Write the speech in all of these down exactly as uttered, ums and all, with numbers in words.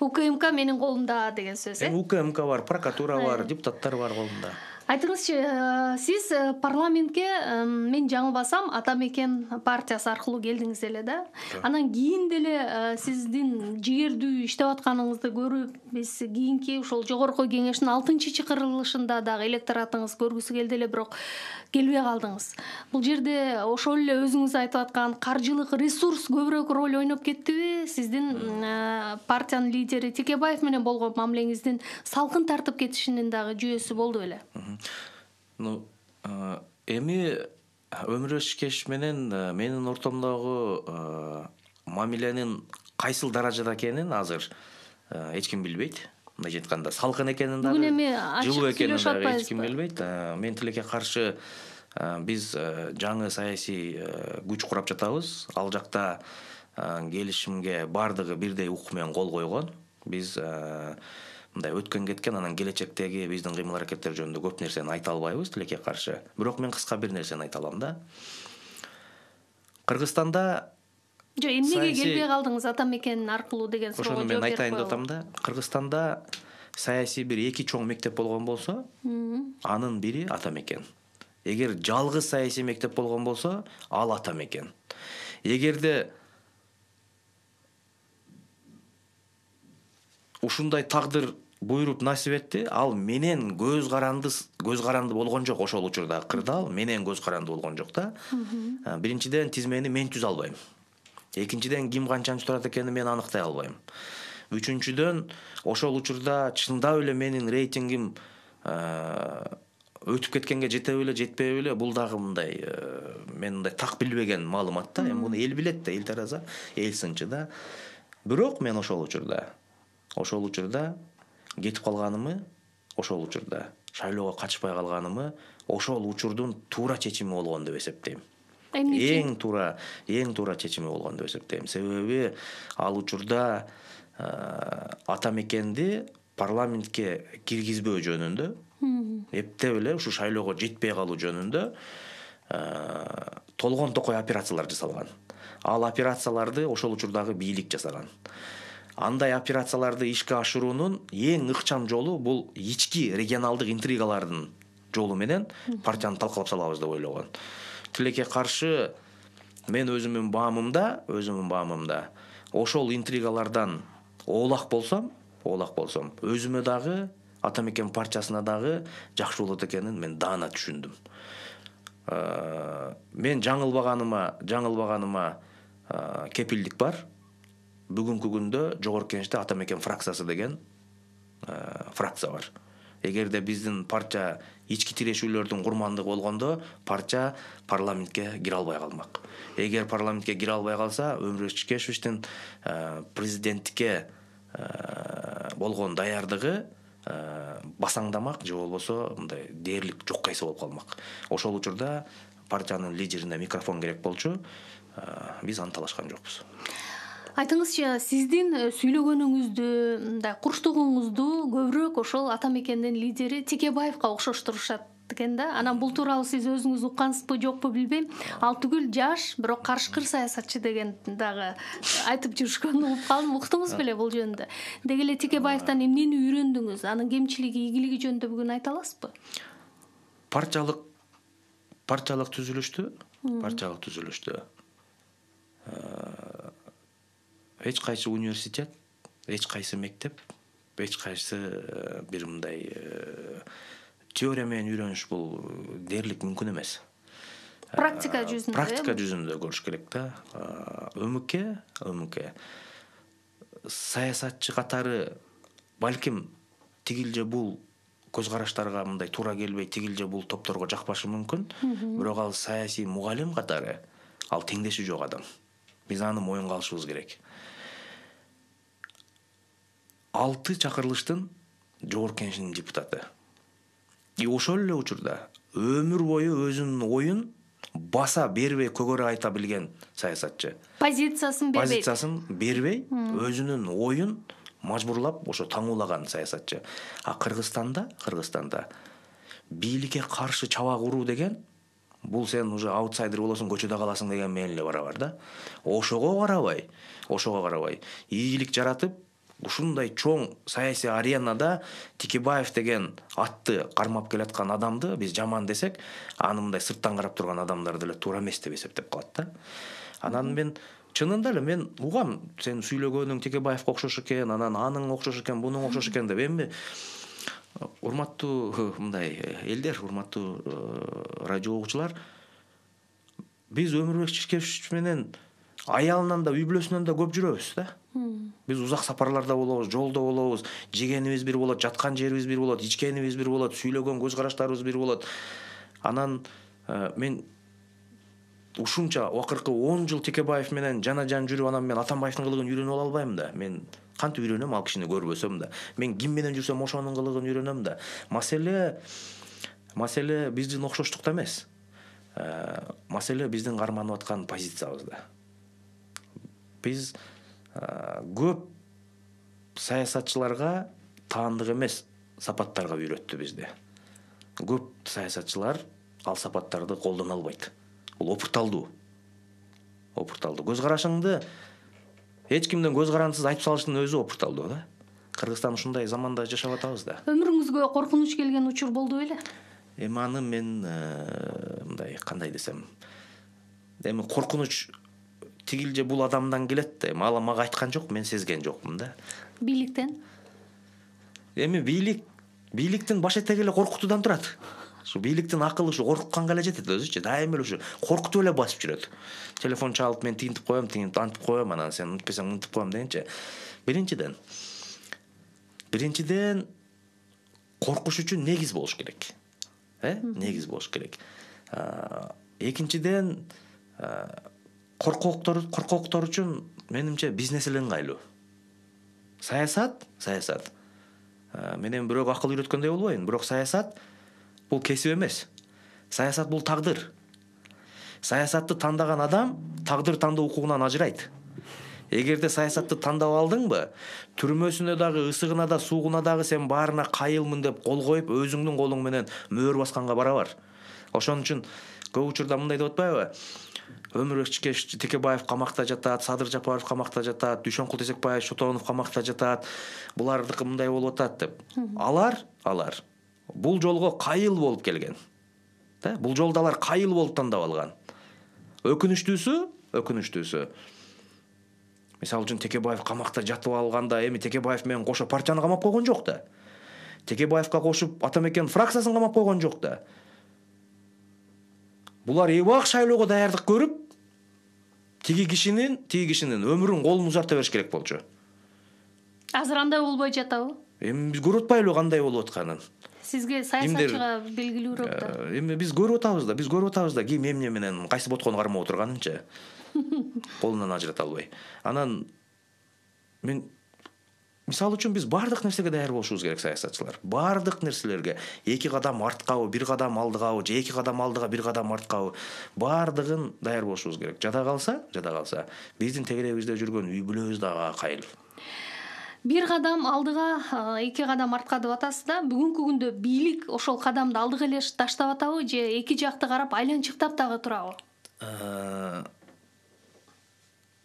УКМК менин колумда деген сөз. Эми УКМК бар, прокуратура бар, депутаттар бар колунда. Айтыңызчы, сиз парламентке, мен жаңылбасам, Ата Мекен партиясы аркылуу келдиңиз эле да. Анан кийин деле сиздин жигердүү иштеп атканыңызды көрүп, биз кийинки ошол жогорку кеңештин алтынчы чакырылышында дагы электоратыңыз көргүсү келди эле, бирок келбей калдыңыз. Бул жерде ошол эле өзүңүз айтып аткан каржылык ресурс көбүрөөк роль ойноп кеттиби? Сиздин партиянын лидери Текебаев менен болгон мамилеңиздин салкын тартып кетишинин дагы жүйөсү болду беле? Ну, эми Өмүр Өчкеш менен менин ортомдогу мамиленин кайсыл даражада экенин азыр эч ким билбейт. Мындай айтканда, салкын экенин дагы, жылуу экенин дагы эч ким билбейт. Мен тилекке каршы биз жаңы саясий күч курап жатабыз. Ал жакта келишимге бардыгы бирдей укук менен кол койгон. Биз мындай өткөн кеткен, анан келечектеги биздин кыймыл аракеттер жөнүндө көп нерсени айта албайбыз тилекке каршы. Бирок мен кыска бир нерсени айта алам да. Кыргызстанда Жок, эмнеге келбей калдыңыз Ата Мекен аркылуу деген суроого жооп берип коелу. Ошону мен айтайын деп атам да. Кыргызстанда саясий бир эки чоң мектеп болгон болсо, анын бири Ата Мекен. Эгер жалгыз саясий мектеп болгон болсо, ал Ата Мекен. Эгерде ушундай тагдыр буйруп насип этти, ал менен көз каранды көз каранды болгон жок. Ошол учурда кырдаал менен көз каранды болгон жок да. Биринчиден тизмени мен түзө албайм. Экинчиден ким канчанчы турат экенин мен аныктай албайм. Үчүнчүдөн ошол учурда чындап эле менин рейтингим өтүп кеткенге жетеби эле, жетпеби эле, бул дагы мындай мен мындай так билбеген маалымат да. Эми муну эл билет да, эл тараза, эл сынчы да. Бирок мен ошол учурда ошол учурда кетип калганымы, ошол учурда шайлоого катышпай калганымы ошол учурдун туура чечими болгон деп эсептейм. Эң туура, эң туура чечими болгон деп эсептейм. Себеби ал учурда Ата Мекенди парламентке киргизбөө жөнүндө, эптеп эле ушу шайлоого жетпей калуу жөнүндө толгон токой операциялар жасалган. Ал операцияларды ошол учурдагы бийлик жасаган. Андай операцияларды ишке ашыруунун эң ыкчам жолу бул ички регионалдык интригалардын жолу менен партияны талкалап салабыз деп ойлогон. Тилекке каршы мен өзүмдүн баамымда, өзүмдүн баамымда ошол интригалардан оолак болсом, оолак болсом, өзүмө дагы, Ата Мекен партиясына дагы жакшы болот экенин мен даана түшүндүм. Мен жаңылбаганыма, жаңылбаганыма кепилдик бар. Бүгүнкү күндө жогорку кеңеште Ата Мекен фракциясы деген фракция бар. Эгерде биздин партия ички тирешүүлөрдүн курмандыгы болгондо, партия парламентке кире албай калмак. Эгер парламентке кире албай калса, Өмүр Өчкешевичтин президенттикке болгон даярдыгы басаңдамак же болбосо мындай дээрлик жок кайсы болуп калмак. Ошол учурда партиянын лидерине микрофон керек болчу, биз аны талашкан жокпуз. Айтыңызчы, сиздин сүйлөгөнүңүздү, мындай курчтугуңузду көбүрөөк ошол Ата Мекендин лидери Текебаевка окшоштурушат экен да. Анан бул тууралуу сиз өзүңүз уккансызбы, жокпу билбейм. Ал түгүл жаш, бирок карышкыр саясатчы деген дагы айтып жүрүшкөнүн угуп калдым. Уктуңуз беле бул жөнүндө? Деги эле Текебаевтан эмнени үйрөндүңүз? Анын кемчилиги, ийгилиги жөнүндө бүгүн айта аласызбы? Партиялык партиялык түзүлүштү, партиялык түзүлүштү. Эч кайсы университет, эч кайсы мектеп, эч кайсы бир мындай теория менен үйрөнүш бул дээрлик мүмкүн эмес. Практика жүзүндө. Практика жүзүндө көрүш керек да. ÖМК, ÖМК саясатчы катары балким тигил же бул көз караштарга мындай туура келбей, тигил же бул топторго жакпашы мүмкүн. Бирок ал саясий мугалим катары ал теңдеши жок адам. Биз аны моюнга алышыбыз керек. Алты чакырылыштын жогорку кеңешинин депутаты. И ошол эле учурда өмүр бою өзүнүн оюн баса бербей көгөрө айта билген саясатчы. Позициясын бербей. Позициясын бербей, өзүнүн оюн мажбурлап ошо таңуулаган саясатчы. А Кыргызстанда, Кыргызстанда бийликке каршы чабак уруу деген бул сен уже аутсайдер болосуң, көчөдө каласың деген менен эле барабар да. Ошого карабай, ошого карабай, ийгилик жаратып, ушундай чоң саясий аренада Текебаев деген атты кармап келаткан адамды биз жаман десек, аны мындай сырттан карап турган адамдар деле туура эмес деп эсептеп калат да. Анан мен чынында эле мен угам, сен сүйлөгөнүң Текебаевге окшош экен, анан аның окшош экен, бунуң окшош экен деп. Эми урматтуу мындай элдер, урматтуу радио угуучулар, биз Өмүрбек Чиркешевич менен аялынан да үй бүлөсүнөн да көп жүрөбүз да. Биз узак сапарларда болобуз, жолдо болобуз, жегенибиз бир болот, жаткан жерибиз бир болот, ичкенибиз бир болот, сүйлөгөн көз караштарыбыз бир болот. Анан мен ушунча акыркы он жыл Текебаев менен жана жан жүрүп, анан мен Атамбаевдин кылыгын үйрөнүп ала албайм да. Мен кантип үйрөнөм ал кишини көрбөсөм да. Мен ким менен жүрсөм ошонун кылыгын үйрөнөм да. Маселе маселе биздин окшоштукта эмес. Маселе биздин карманып аткан позициябызда. Биз көп саясатчыларга таандык эмес сапаттарга үйрөттү бизди. Көп саясатчылар ал сапаттарды колдоно албайт. Бул опурталдуу. Опурталдуу. Көз карашыңды эч кимден көз карандысыз айтып салыштын өзү опурталдуу да. Кыргызстан ушундай заманда жашап атабыз да. Өмүрүңүзгө коркунуч келген учур болду беле? Эми аны мен мындай кандай десем, эми коркунуч тигил же бул адамдан келет да. Эми ал мага айткан жок, мен сезген жокмун да. Бийликтен? Эми бийлик бийликтин баш этеги эле коркутуудан турат. Ушу бийликтин акылы ушу коркутканга эле жетет өзүчү. Дайыма эле ушу коркутуп эле басып жүрөт. Телефон чалып мен тигинтип коем, тигинтип антип коем, анан сен унутпасаң унутуп коем дегенче. Биринчиден Биринчиден коркуш үчүн негиз болуш керек. Э? Негиз болуш керек. Экинчиден коркоктор коркоктор үчүн менимче бизнес эле ыңгайлуу. Саясат, саясат. Менен бирок акыл үйрөткөндөй болбойн, бирок саясат бул кесип эмес. Саясат бул тагдыр. Саясатты тандаган адам тагдыр тандоо укугунан ажырайт. Эгерде саясатты тандап алдыңбы, түрмөсүнө дагы, ысыгына да, суугуна дагы сен баарына кайылмын деп кол коюп, өзүңдүн колуң менен мөөр басканга бара бар. Ошон үчүн көп учурда мындай деп атпайбы? Өмүрбек Чиркешевич Текебаев камакта жатат, Садыр Жапаров камакта жатат, Дүйшөнкул Тесекбаев Шотонов камакта жатат. Булардыкы мындай болуп атат деп. Алар, алар бул жолго кайыл болуп келген. Да, бул жолдо алар кайыл болуп тандап алган. Өкүнүчтүүсү, өкүнүчтүүсү. Мисалы үчүн Текебаев камакта жатып алганда эми Текебаев менен кошо партияны камап койгон жок да. Текебаевка кошуп Атамекен фракциясын камап койгон жок да. Булар эбак шайлоого даярдык көрүп, тиги кишинин, тиги кишинин өмүрүн колун узарта бериш керек болчу. Азыр андай болбой жатабы? Эми биз көрүп атпайлыбы кандай болуп атканын? Сизге саясатчыга белгилүүрөөк да. Эми биз көрүп атабыз да, биз көрүп атабыз да, ким эмне менен кайсы боткону кармап отурганынчы. Колунан ажырата албай. Анан мен мисалы үчүн биз бардык нерсеге даяр болушубуз керек, саясатчылар. Бардык нерселерге эки кадам арткабы, бир кадам алдыгабы, же эки кадам алдыга, бир кадам арткабы, бардыгын даяр болушубуз керек. Жада калса, жада калса, биздин тегерегибизде жүргөн үй бүлөбүз дагы кайыл. Бир кадам алдыга, эки кадам артка деп атасыз да. Бүгүнкү күндө бийлик ошол кадамды алдыга эле таштап атабы, же эки жакты карап айланчыктап дагы турабы?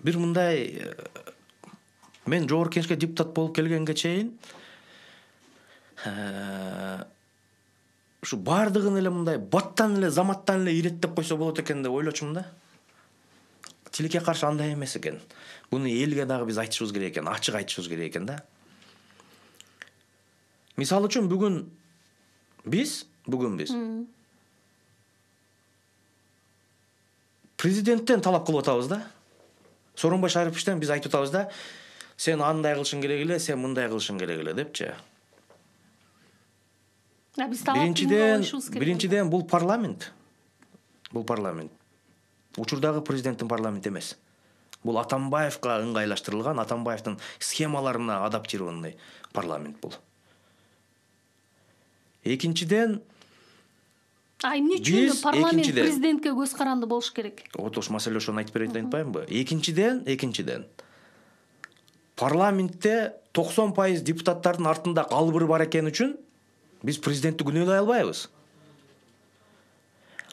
Бир мындай, мен жогорку кеңешке депутат болуп келгенге чейин ушу бардыгын эле мындай баттан эле, заматтан эле иреттеп койсо болот экен деп ойлочумун да. Тилекке каршы андай эмес экен. Буну элге дагы биз айтышыбыз керек экен, ачык айтышыбыз керек экен да. Мисалы үчүн бүгүн биз, бүгүн биз президенттен талап кылып атабыз да. Сооронбай Шариповичтен биз айтып атабыз да, сен андай кылышың керек эле, сен мындай кылышың керек эле депчи. Биринчиден, биринчиден бул парламент. Бул парламент. Учурдагы президенттин парламенти эмес. Бул Атамбаевка ыңгайлаштырылган, Атамбаевдин схемаларына адаптированный парламент бул. Экинчиден, А эмне үчүн парламент президентке көз каранды болуш керек? Вот ош маселе ошону айтып берейин деп атпаймынбы? Экинчиден, экинчиден. Парламентте токсон пайыз депутаттардын артында калбыр бар экени үчүн биз президентти күнөөлөй албайбыз.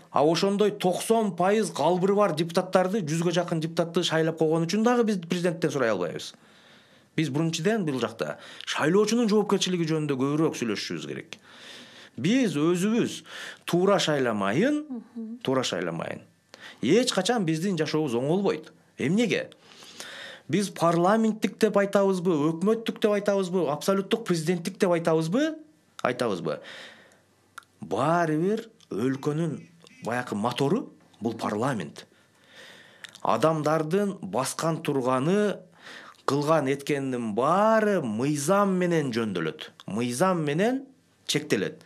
А ошондой токсон пайыз калбыры бар депутаттарды, жүзгө жакын депутатты шайлап койгон үчүн дагы биз президенттен сурай албайбыз. Биз биринчиден бул жакта шайлоочунун жоопкерчилиги жөнүндө көбүрөөк сүйлөшүшүбүз керек. Биз өзүбүз туура шайламайын, туура шайламайын. Эч качан биздин жашообуз оңолбойт. Эмнеге? Биз парламенттик деп айтабызбы, өкмөттүк деп айтабызбы, абсолюттук президенттик деп айтабызбы? Айтабызбы? Баары бир өлкөнүн баякы мотору бул парламент. Адамдардын баскан турганы, кылган эткенинин баары мыйзам менен жөндөлөт. Мыйзам менен чектелет.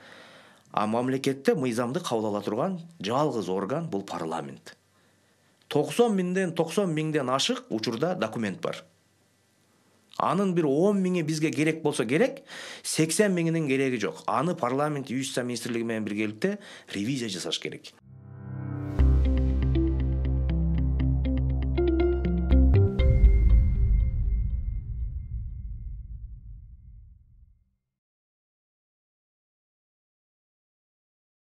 А мамлекетте мыйзамды кабыл ала турган жалгыз орган бул парламент. токсон миңден токсон миңден ашык учурда документ бар. Анын бир он миңи бизге керек болсо керек, сексен миңинин кереги жок. Аны парламент юстиция министрлиги менен биргеликте ревизия жасаш керек.